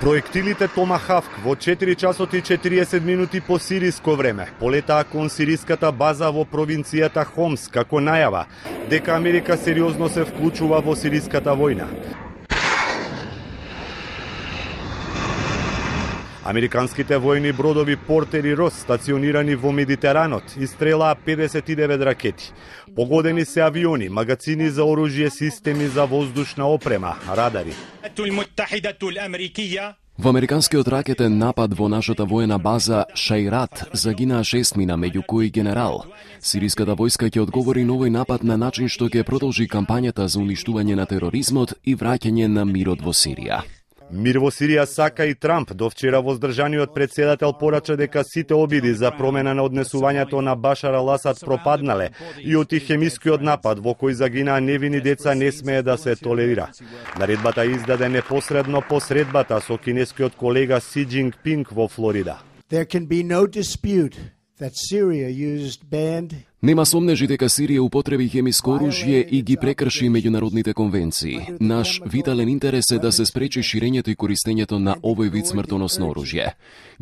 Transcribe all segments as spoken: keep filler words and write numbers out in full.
Проектилите Томахавк во четири часот и четириесет минути по сириско време полетаа кон сириската база во провинцијата Хомс како најава дека Америка сериозно се вклучува во сириската војна. Американските војни бродови Портер и Рос, стационирани во Медитеранот, истрелаа педесет и девет ракети. Погодени се авиони, магазини за оружје, системи за воздушна опрема, радари. Во американскиот ракетен напад во нашата воена база Шајрат загинаа шестмина, меѓу кои генерал. Сириската војска ќе одговори на овој напад на начин што ќе продолжи кампањата за уништување на тероризмот и враќање на мирот во Сирија. Мир во Сирија сака и Трамп. До вчера воздржаниот председател порача дека сите обиди за промена на однесувањето на Башар ал-Асад пропаднале и оти хемискиот напад во кој загинаа невини деца не смее да се толерира. Наредбата издаде непосредно по средбата со кинескиот колега Си Џинпинг во Флорида. There can be no dispute that Syria used banned Нема сомнежи дека Сирија употреби хемиско оружје и ги прекрши меѓународните конвенции. Наш витален интерес е да се спречи ширењето и користењето на овој вид смртоносно оружје.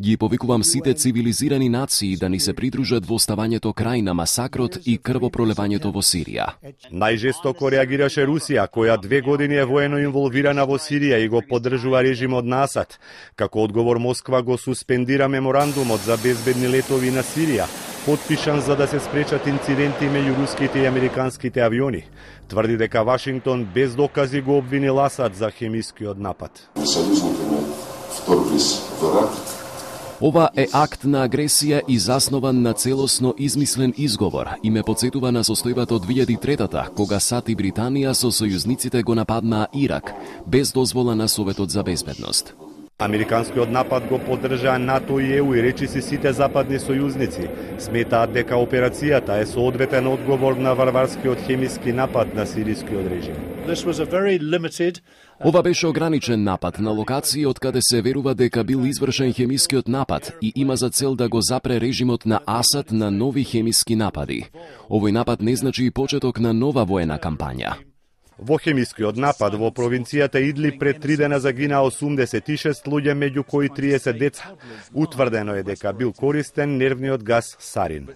Ги повикувам сите цивилизирани нации да ни се придружат во ставањето крај на масакрот и крвопролевањето во Сирија. Најжестоко реагираше Русија, која две години е воено инволвирана во Сирија и го поддржува режимот на Асад. Како одговор Москва го суспендира меморандумот за безбедни летови на Сирија, потпишан за да се спречат инциденти меѓу руските и американските авиони. Тврди дека Вашингтон без докази го обвинил Асад за хемискиот напад. Ова е акт на агресија и заснован на целосно измислен изговор и ме потсетува на состојбата од две илјади и трета, кога САД и Британија со сојузниците го нападнаа Ирак, без дозвола на Советот за безбедност. Американскиот напад го поддржаа НАТО и ЕУ и речиси сите западни сојузници. Сметаат дека операцијата е соодветен одговор на варварскиот хемиски напад на сирискиот режим. Ова беше ограничен напад на локација од каде се верува дека бил извршен хемискиот напад и има за цел да го запре режимот на Асад на нови хемиски напади. Овој напад не значи и почеток на нова воена кампања. Во хемискиот напад во провинцијата Идли пред три дена загинаа осумдесет и шест луѓе, меѓу кои триесет деца. Утврдено е дека бил користен нервниот гас сарин.